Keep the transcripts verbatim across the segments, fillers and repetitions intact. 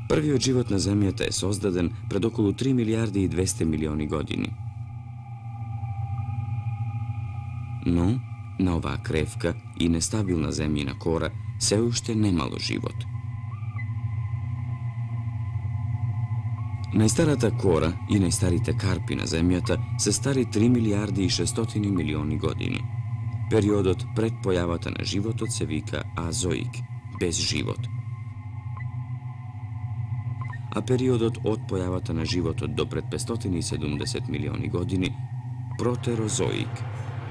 Првиот живот на Земјата е создаден пред околу три милијарди и двесте милиони години. Но, на оваа кревка и нестабилна земјина кора се уште немало живот. Најстарата кора и најстарите карпи на Земјата се стари три милијарди и шестстотини милиони години. Периодот пред појавата на животот се вика азоик, без живот. А периодот од појавата на животот до пред петстотини и седумдесет милиони години протерозоик,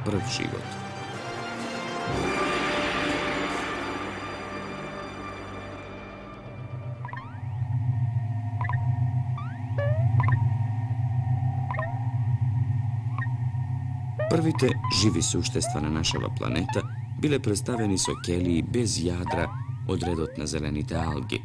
прв живот. Првите живи суштества на нашава планета биле представени со келии без јадра од редот на зелените алги.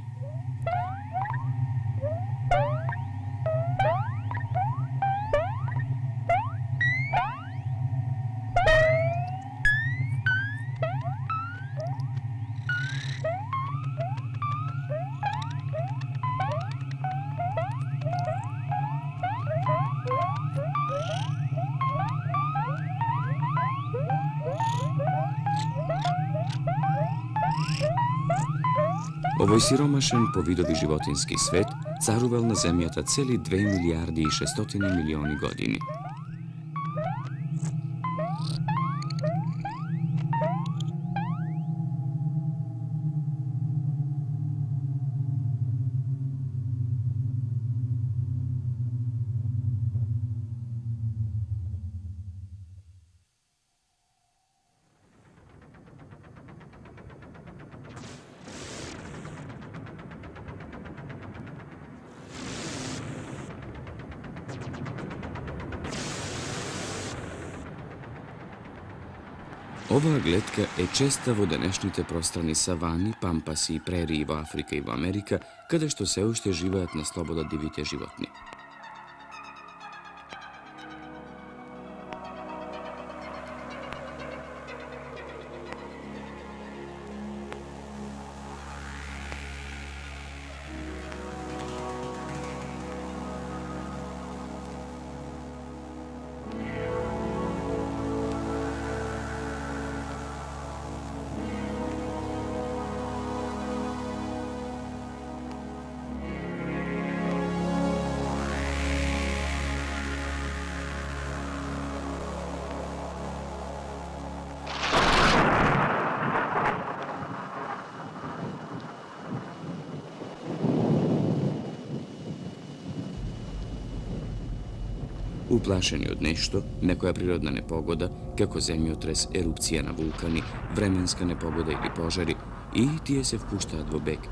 Овој сиромашен по видови животински свет царувал на Земјата цели две милијарди и шестстотини милиони години. Оваа глетка е честа во денешните пространи савани, пампаси и прерии во Африка и во Америка, каде што се уште живеат на слобода дивите животни. Уплашени од нешто, некоја природна непогода, како земјотрес, ерупција на вулкани, временска непогода или пожари, и тие се впуштаат во бег.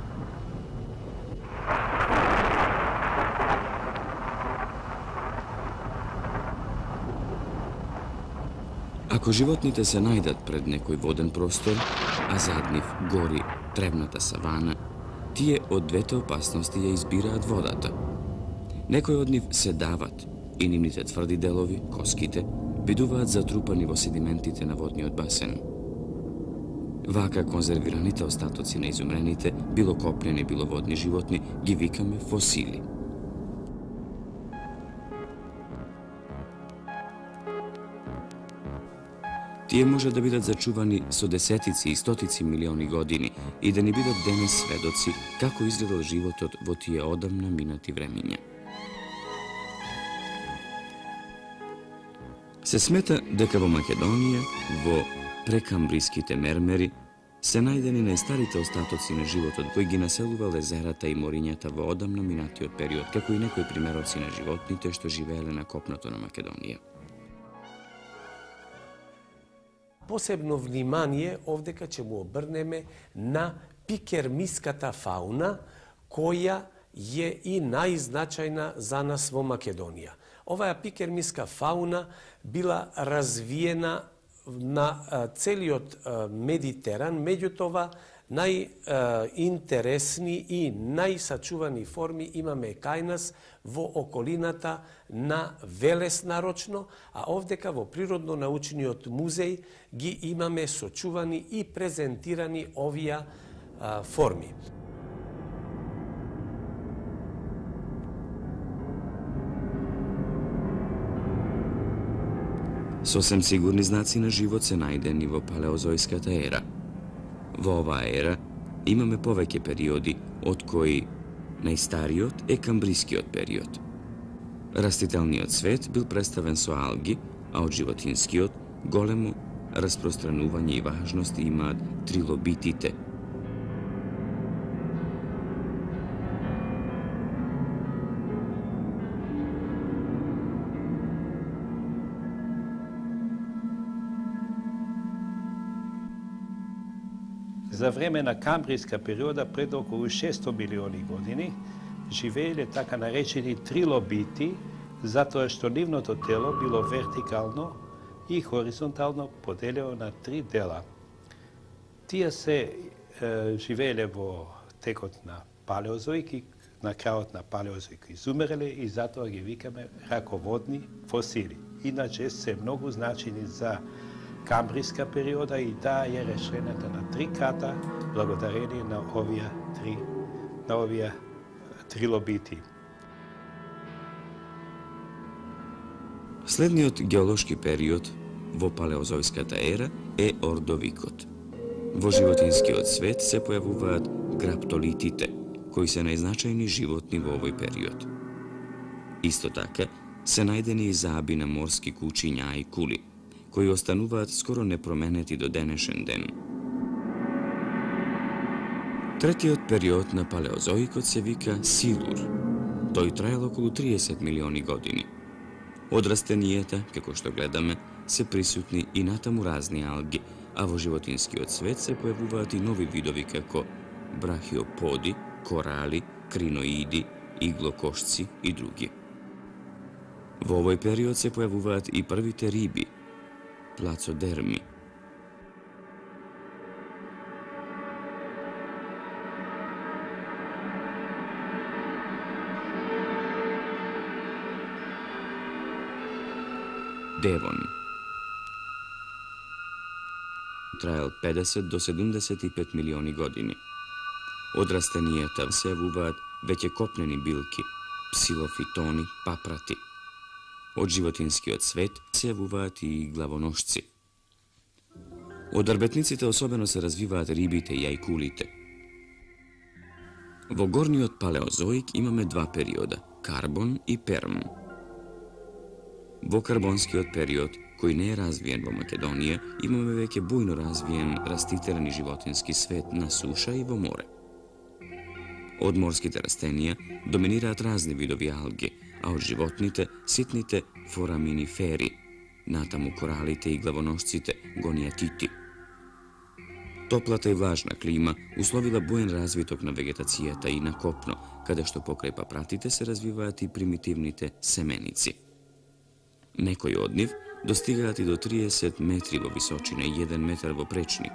Ако животните се најдат пред некој воден простор, а зад нив гори тревната савана, тие од двете опасности ја избираат водата. Некои од нив се дават и нивните тврди делови, коските, бидуваат затрупани во седиментите на водниот басен. Вака конзервираните остатоци на изумрените, било копнени, било водни животни, ги викаме фосили. Тие може да бидат зачувани со десетици и стотици милиони години и да ни бидат денес сведоци како изгледал животот во тие одамна минати времиња. Се смета дека во Македонија, во прекамбриските мермери, се најдени најстарите остатоци на животот кои ги населува лезерата и морињата во одамна минатиот период, како и некои примероци на животните што живееле на копното на Македонија. Посебно внимание овдека ќе му обрнеме на пикермиската фауна, која е и најзначајна за нас во Македонија. Оваа пикермиска фауна била развиена на целиот Медитеран, меѓутоа најинтересни и најсачувани форми имаме кај нас во околината на Велес нарочно, а овдека во Природно-научниот музеј ги имаме сочувани и презентирани овие форми. Сосем сигурни знаци на живот се најдени во палеозојската ера. Во оваа ера имаме повеќе периоди, од кои најстариот е камбрискиот период. Растителниот свет бил представен со алги, а од животинскиот големо распространување и важност имаат трилобитите. За време на камбриска периода пред околу шесто милиони години живееле така наречени трилобити, затоа што нивното тело било вертикално и хоризонтално поделено на три дела. Тие се е, живееле во текот на палеозоик и на крајот на палеозоик изумреле и затоа ги викаме раководни фосили. Иначе се многу значени за камбриска периода и таа е решената на три крата благодарение на овие три на овие трилобити. Следниот геолошки период во палеозојската ера е ордовикот. Во животинскиот свет се појавуваат граптолитите, кои се најзначајни животни во овој период. Исто така се најдени и заби на морски кучиња и кули, кои остануваат скоро непроменети до денешен ден. Третиот период на палеозоикот се вика Силур. Тој траел околу триесет милиони години. Од растенијата, како што гледаме, се присутни и натаму разни алги, а во животинскиот свет се појавуваат и нови видови како брахиоподи, корали, криноиди, иглокошци и други. Во овој период се појавуваат и првите риби, плацодерми. Девон. Траел педесет до седумдесет и пет милиони години. Од растенијата се јавуваат веќе копнени билки, псилофитони, папрати. Од животинскиот свет се јавуваат и главоношци. Од рбетниците особено се развиваат рибите и јајкулите. Во горниот палеозоик имаме два периода – Карбон и Перм. Во карбонскиот период, кој не е развиен во Македонија, имаме веќе бујно развиен растителен и животински свет на суша и во море. Од морските растенија доминираат разни видови алги, а од животните ситните фораминифери, натаму коралите и главоношците, гониатити. Топлата и влажна клима условила буен развиток на вегетацијата и на копно, каде што покрај папратите се развиваат и примитивните семеници. Некои од нив достигаат и до триесет метри во височина и еден метар во пречник.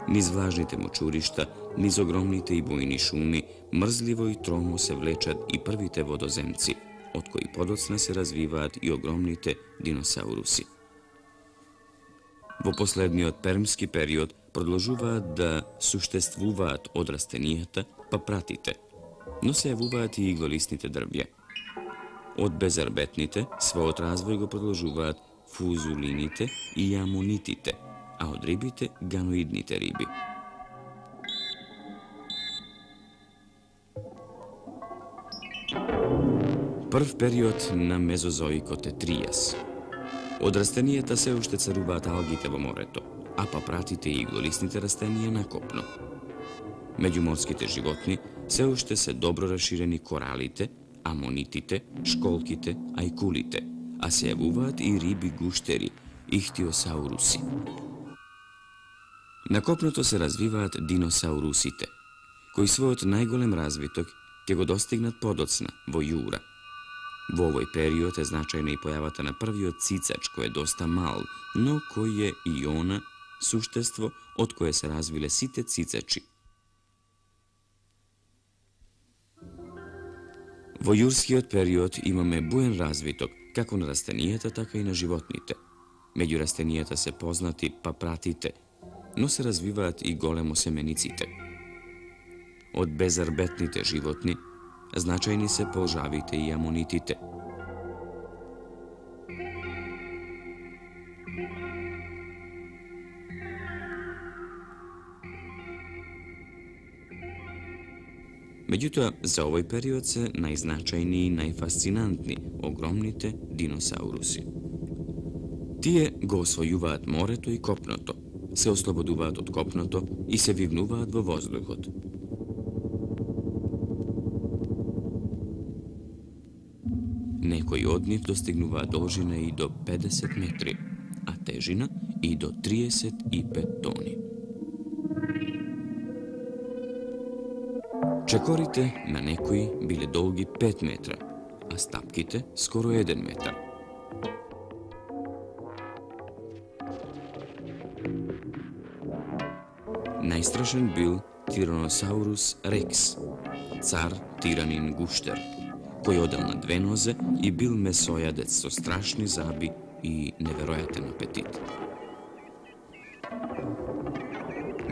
Низ влажните мочуришта, низ огромните и бујни шуми, мрзливо и тромо се влечат и првите водоземци, од кои подоцна се развиваат и огромните диносауруси. Во последниот пермски период продолжуваат да суштествуваат од растенијата папратите, но се јавуваат и иглолистните дрвја. Од безарбетните својот развој го продолжуваат фузулините и амонитите, а од рибите ганоидните риби. Прв период на мезозоикот е тријас. Од растенијата се уште царуваат алгите во морето, а папратите и иглолистните растенија на копно. Меѓу морските животни се уште се добро расширени коралите, амонитите, школките, ајкулите, а се јавуваат и риби гуштери, ихтиосауруси. На копното се развиваат диносаурусите, кои својот најголем развиток ќе го достигнат подоцна во јура. Во овој период е значајна и појавата на првиот цицач, кој е доста мал, но кој е и она суштество од кое се развиле сите цицачи. Во јурскиот период имаме буен развиток, како на растенијата, така и на животните. Меѓу растенијата се познати папратите, но се развиваат и големосемениците. Од безарбетните животни значајни се полжавите и амонитите. Меѓутоа, за овој период се најзначајни и најфасцинантни огромните диносауруси. Тие го освојуваат морето и копното, се ослободуваат од копното и се вивнуваат во воздухот. Некои од нив достигнуваат должина и до педесет метри, а тежина и до триесет и пет тони. Чекорите на некои биле долги пет метра, а стапките скоро еден метар. Најстрашен бил Тираносаурус рекс, цар тиранин гуштер, кој одел на две нозе и бил месојадец со страшни заби и неверојатен апетит.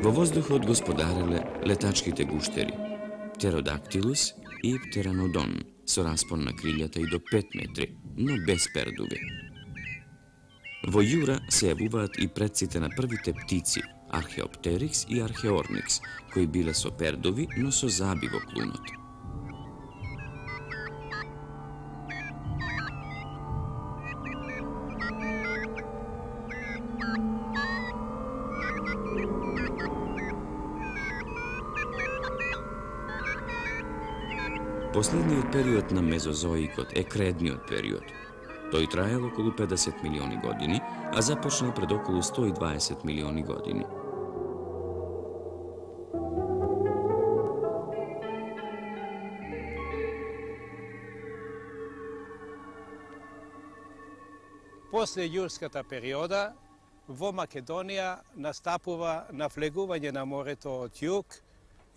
Во воздухот господареле летачките гуштери, Птеродактилус и Птеранодон, со распон на крилјата и до пет метри, но без пердуви. Во јура се јавуваат и предците на првите птици, Археоптерикс и Археорникс, кои биле со пердуви, но со заби во клунот. Последниот период на мезозоикот е кредниот период. Тој траел околу педесет милиони години, а започнал пред околу сто и дваесет милиони години. После јурската периода, во Македонија настапува навлегување на морето од југ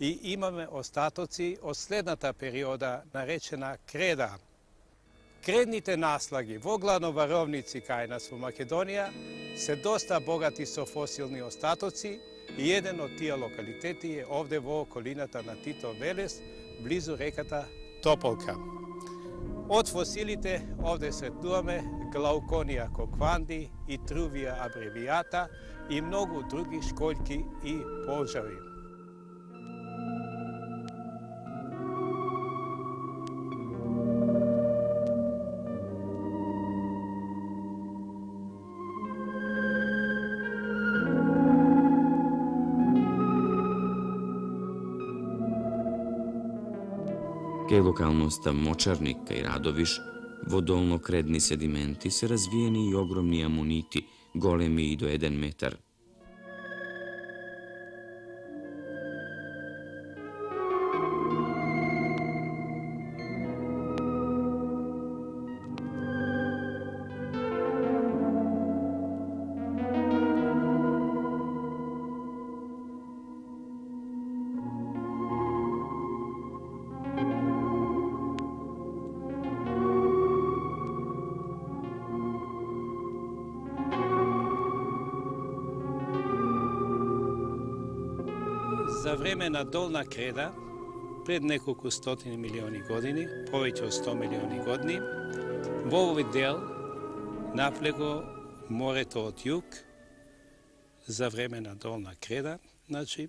и имаме остатоци од следната периода, наречена креда. Кредните наслаги во главно варовници кај нас во Македонија се доста богати со фосилни остатоци и еден од тие локалитети е овде во околината на Тито Велес, близу реката Тополка. Од фосилите овде сретнуваме Глауконија кокванди и Трувија абревијата и многу други шкољки и полжави. Кај локалноста Мочарник кај Радовиш, во долнокредни седименти се развиени и огромни амонити, големи и до еден метар. За време на долна креда, пред неколку стотини милиони години, повеќе од сто милиони години, во овој дел наплего морето од југ за време на долна креда, значи,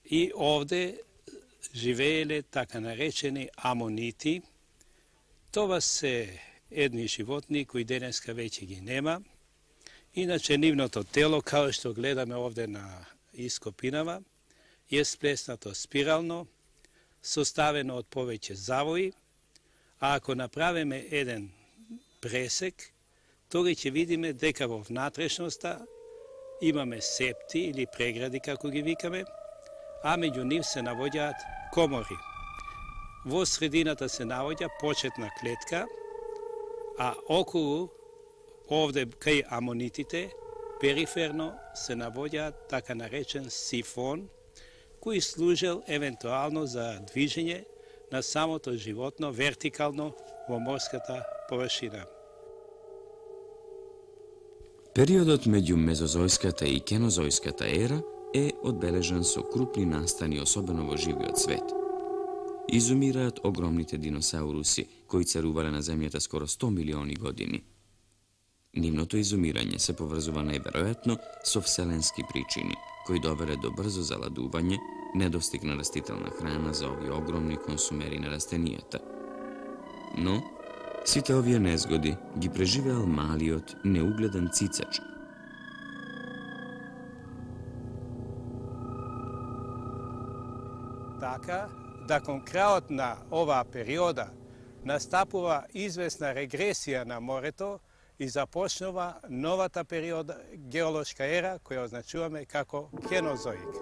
и овде живееле така наречени амонити. Това се едни животни кои денеска веќе ги нема. Иначе нивното тело, као што гледаме овде на ископинава, е сплеснато спирално, составено од повеќе завои, а ако направиме еден пресек, тога ќе видиме дека во внатрешноста имаме септи или прегради, како ги викаме, а меѓу нив се наоѓаат комори. Во средината се наоѓа почетна клетка, а околу, овде кај амонитите, периферно се наоѓаат така наречен сифон, кој служел евентуално за движење на самото животно вертикално во морската површина. Периодот меѓу мезозојската и кенозојската ера е одбележан со крупни настани, особено во живиот свет. Изумираат огромните диносауруси, кои царувале на земјата скоро сто милиони години. Нивното изумирање се поврзува најверојатно со вселенски причини, кои довеле до брзо заладување, недостиг на растителна храна за овие огромни консумери на растенијата. Но, сите овие незгоди ги преживеал малиот, неугледан цицач. Така, да кон крајот на оваа периода настапува известна регресија на морето и започнува новата периода геолошка ера, која означуваме како кенозоик.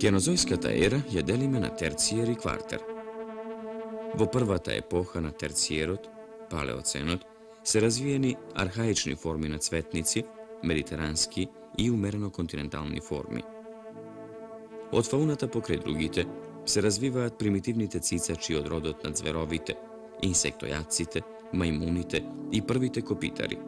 Кенозојската ера ја делиме на терциер и квартер. Во првата епоха на терциерот, палеоценот, се развиени архаични форми на цветници, медитерански и умерено континентални форми. Од фауната покрај другите се развиваат примитивните цицачи од родот на зверовите, инсектојадците, мајмуните и првите копитари.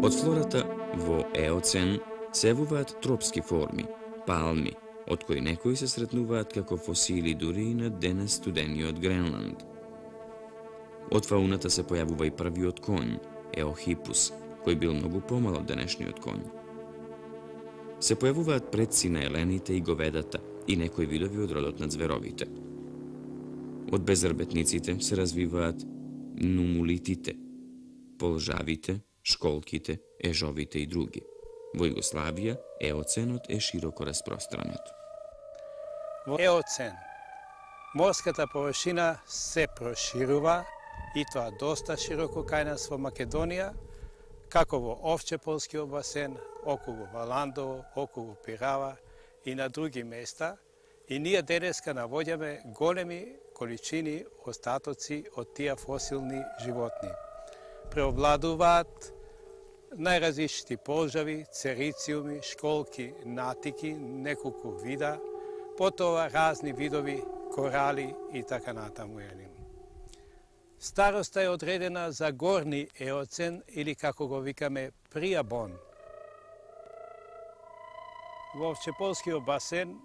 Од флората во еоцен се јавуваат тропски форми, палми, од кои некои се сретнуваат како фосили дури и на денес студениот Гренланд. Од фауната се појавува и првиот конј, Еохипус, кој бил многу помал од денешниот конј. Се појавуваат предци на елените и говедата и некои видови од родот на зверовите. Од безрбетниците се развиваат нумулитите, полжавите, школките, ежовите и други. Во Југославија еоценот е широко распространет. Во еоцен морската површина се проширува и тоа доста широко кај нас во Македонија, како во Овчеполскиот басен, околу Валандово, околу Пирава и на други места, и ние денеска навоѓаме големи количини остатоци од тие фосилни животни. Преовладуваат најразличити полжави, церициуми, школки, натики, неколку вида, потоа разни видови корали и така натаму. Староста е одредена за горни еоцен или како го викаме приабон. Во Овчеполскиот басен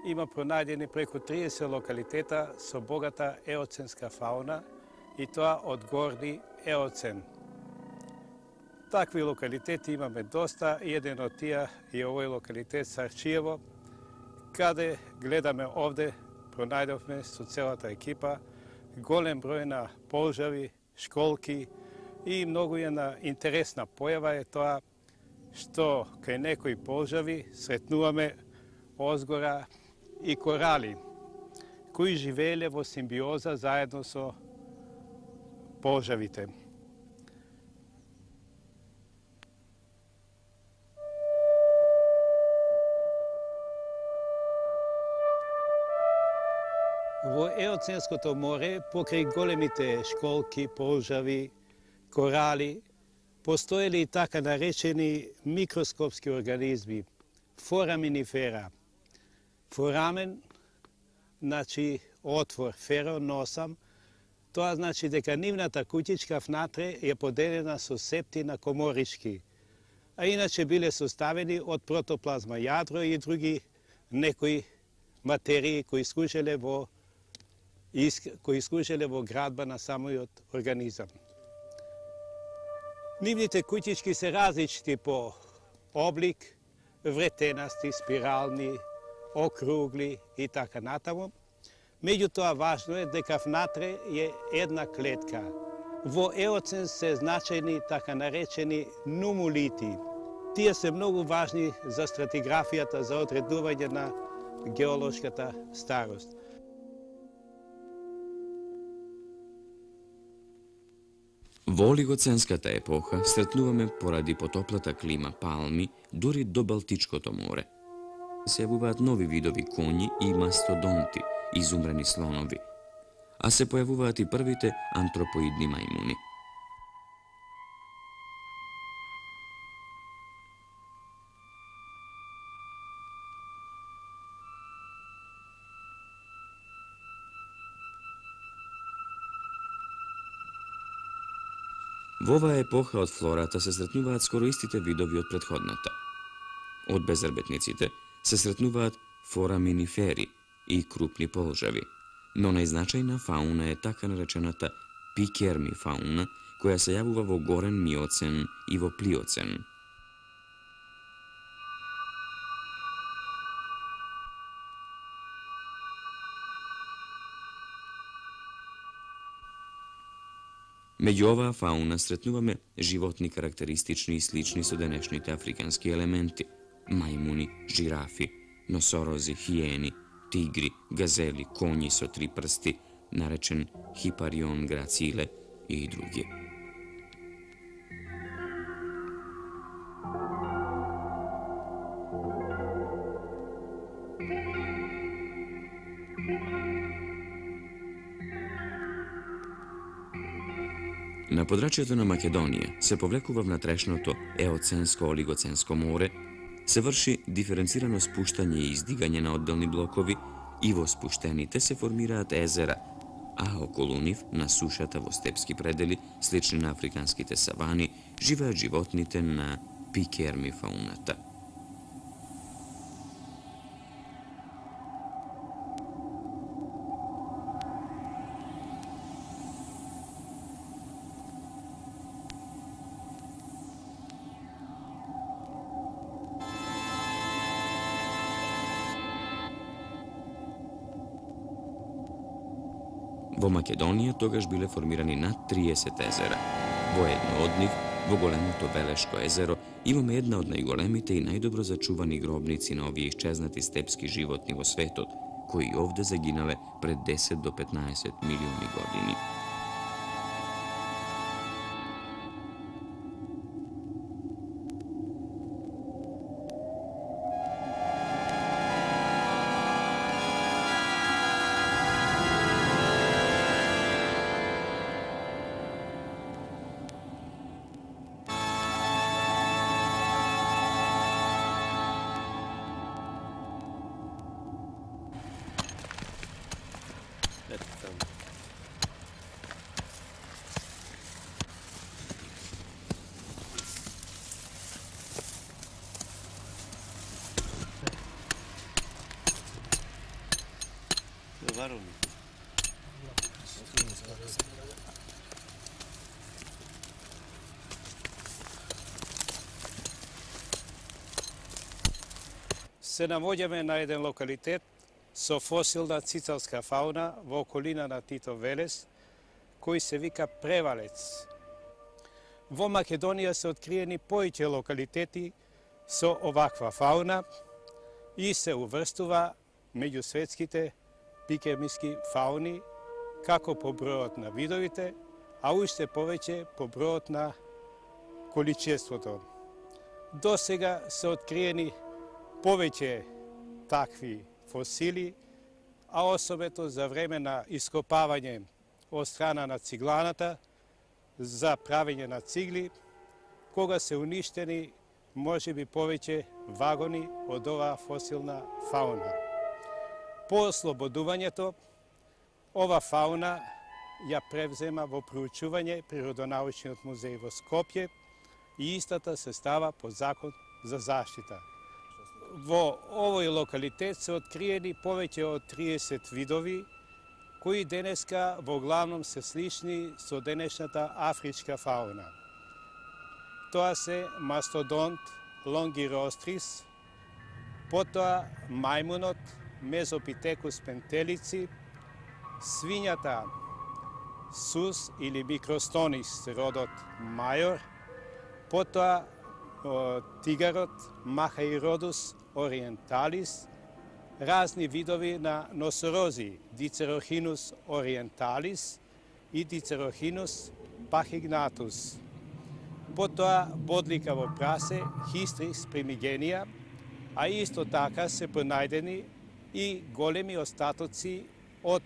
има пронајдени преку триесет локалитета со богата еоценска фауна и тоа од горни еоцен. Такви локалитети имаме доста и еден од тие е овој локалитет Сарчиево, каде гледаме овде, пронајдовме со целата екипа голем број на полжави, школки и многу една интересна појава е тоа што кај некои полжави сретнуваме озгора и корали, кои живееле во симбиоза заедно со полжавите. Во еоценското море, покрај големите школки, полжави, корали, постоели и така наречени микроскопски организми, фораминифера. Форамен, значи отвор, феро, носам, Тоа значи дека нивната куќичка внатре е поделена со септина коморички, а иначе биле составени од протоплазма јадро и други некои материи кои служеле во кои служеле во градба на самиот организам. Нивните куќички се различни по облик, вретенасти, спирални, округли и така натаму. Меѓутоа важно е дека внатре е една клетка. Во еоцен се значајни така наречени нумулити. Тие се многу важни за стратиграфијата за одредување на геолошката старост. Во олигоценската епоха сретнуваме поради потоплата клима палми дури до Балтичкото море. Се јавуваат нови видови коњи и мастодонти, изумрени слонови, а се појавуваат и првите антропоидни мајмуни. Во оваа епоха од флората се сретнуваат скоро истите видови од претходната. Од безрбетниците се сретнуваат фораминифери и крупни полжави, но најзначајна фауна е така наречената пикерми фауна, која се јавува во горен миоцен и во плиоцен. Меѓу оваа фауна сретнуваме животни карактеристични и слични со денешните африкански елементи: мајмуни, жирафи, носорози, хиени, тигри, газели, коњи со три прсти, наречен хипарион грациле и други. На подрачјето на Македонија се повлекува внатрешното еоценско-олигоценско море, се врши диференцирано спуштање и издигање на одделни блокови и во спуштените се формираат езера, а околу нив, на сушата во степски предели, слични на африканските савани, живеат животните на пикерми фауната. Во Македонија тогаш биле формирани над триесет езера. Во едно од нив, во големото Велешко езеро, имаме една од најголемите и најдобро зачувани гробници на овие исчезнати степски животни во светот, кои овде загинале пред десет до петнаесет милиони години. Се наоѓаме на еден локалитет со фосилна цицалска фауна во околина на Тито Велес, кој се вика Превалец. Во Македонија се откриени повеќе локалитети со оваква фауна и се уврстува меѓу светските пикермиски фауни, како по бројот на видовите, а уште повеќе по бројот на количеството. До сега се откриени повеќе такви фосили, а особено за време на ископавање од страна на цигланата за правење на цигли, кога се уништени можеби повеќе вагони од оваа фосилна фауна. По ослободувањето, ова фауна ја превзема во проучување Природонаучниот музеј во Скопје и истата се става по закон за заштита. Во овој локалитет се откриени повеќе од триесет видови, кои денеска во главном се слични со денешната афричка фауна. Тоа се мастодонт лонгирострис, потоа мајмунот Мезопитекус пентелици, свињата Сус или Микростонис родот мајор, потоа тигарот Махаиродус ориенталис, разни видови на носорози Дицерохинус ориенталис и Дицерохинус пахигнатус. Потоа бодликаво прасе Хистрис примигенија, а исто така се пронајдени и големи остатоци од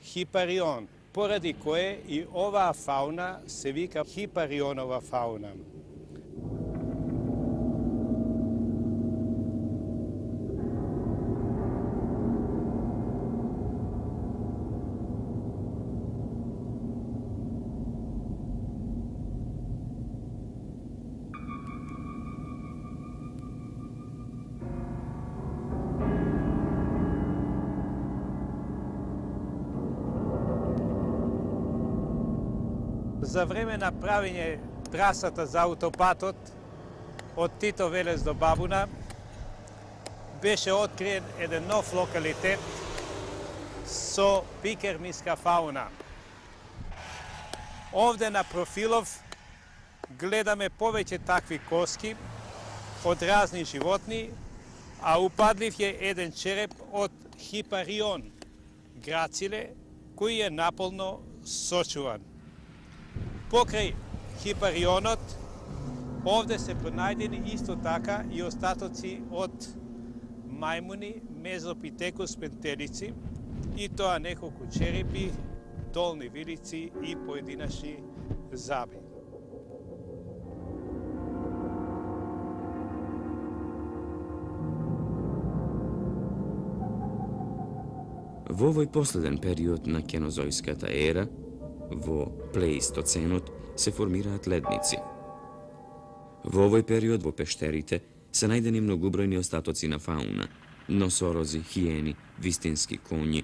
Хипарион, поради кое и оваа фауна се вика Хипарионова фауна. За време на правење трасата за аутопатот од Тито Велес до Бабуна беше откриен еден нов локалитет со пикермиска фауна. Овде на профилов гледаме повеќе такви коски од разни животни, а упадлив е еден череп од Хипарион, грациле, кој е наполно сочуван. Покрај Хипарионот, овде се пронајдени исто така и остатоци од мајмуни Мезопитекус пентелици, и тоа неколку черепи, долни вилици и поединачни заби. Во овој последен период на кенозојската ера, во плеистоценот, се формираат ледници. Во овој период во пештерите се најдени многубројни остатоци на фауна, носорози, хиени, вистински коњи,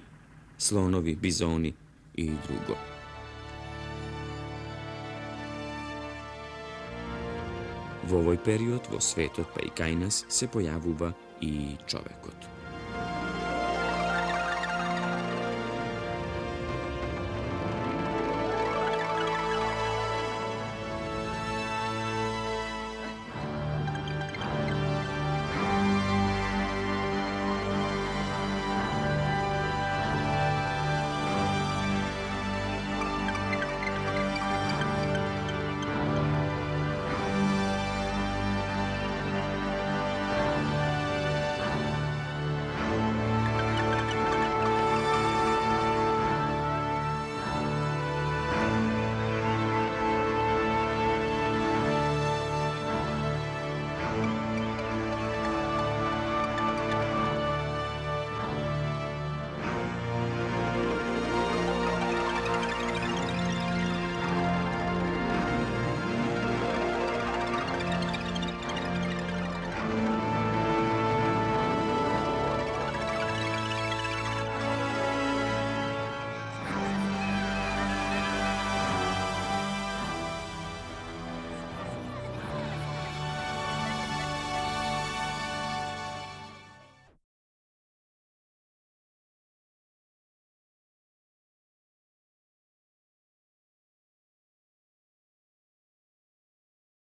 слонови, бизони и друго. Во овој период во светот, па и кај нас, се појавува и човекот.